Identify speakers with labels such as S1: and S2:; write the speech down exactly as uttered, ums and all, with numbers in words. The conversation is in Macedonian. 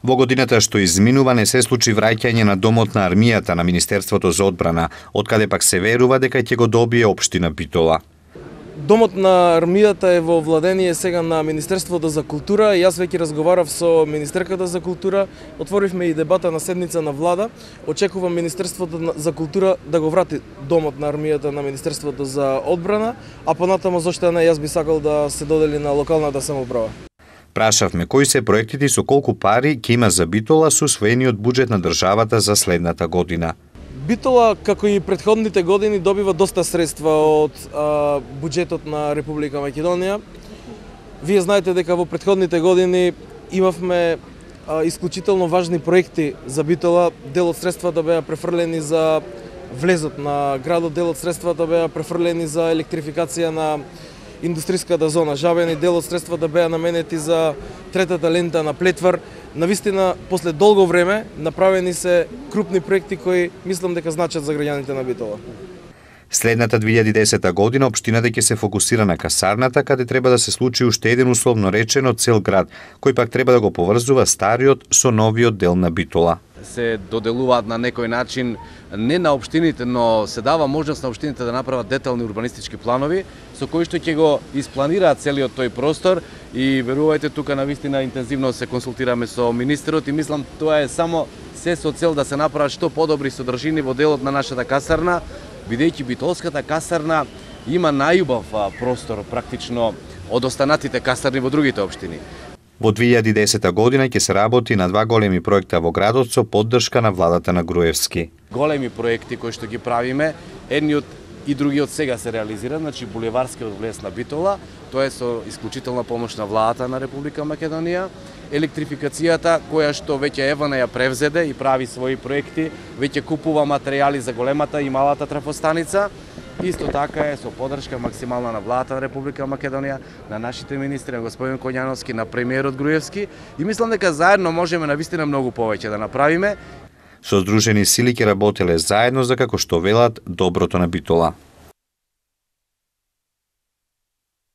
S1: Во годината што изминува не се случи враќање на домот на армијата на Министерството за одбрана, откаде пак се верува дека ќе го добие општина Битола.
S2: Домот на армијата е во владение сега на Министерството за култура. Јас веќе разговарав со министерката за култура, отворивме и дебата на седница на влада. Очекувам Министерството за култура да го врати домот на армијата на Министерството за одбрана, а понатамо зошто не, јас би сакал да се додели на локалната самоуправа.
S1: Прашавме кои се проектите и со колку пари ќе има за Битола со усвоениот буџет на државата за следната година.
S2: Битола, како и претходните години, добива доста средства од а, буџетот на Република Македонија. Вие знаете дека во претходните години имавме а, исклучително важни проекти за Битола. Дел од средствата беа префрлени за влезот на градот, дел од средствата беа префрлени за електрификација на индустријската зона Жабен и дел од средствата беа наменети за третата лента на Плетвар. Навистина, после долго време, направени се крупни проекти кои мислам дека значат за граѓаните на Битола.
S1: Следната две илјади и десета година општината ќе се фокусира на касарната, каде треба да се случи уште еден условно речено цел град, кој пак треба да го поврзува стариот со новиот дел на Битола.
S3: Се доделуваат на некој начин не на општините, но се дава можност на општините да направат детални урбанистички планови со кои што ќе го испланираат целиот тој простор и верувајте тука навистина интензивно се консултираме со министерот и мислам тоа е само се со цел да се направат што подобри содржини во делот на нашата касарна, бидејќи Битолската касарна има најубав простор практично од останатите касарни во другите општини.
S1: Во две илјади и десета година ќе се работи на два големи проекта во градот со поддршка на владата на Груевски.
S3: Големи проекти кои што ги правиме, едниот и другиот сега се реализира, значи булеварскиот влез на Битола, тоа е со исклучителна помош на владата на Република Македонија, електрификацијата која што веќе Евана ја превзеде и прави своји проекти, веќе купува материјали за големата и малата трафостаница. Исто така е со поддршка максимална на владата на Република Македонија, на нашите министри, на господин Коњановски, на премиерот Груевски и мислам дека заедно можеме навистина многу повеќе да направиме.
S1: Со здружени сили ќе работеле заедно за, како што велат, доброто на Битола.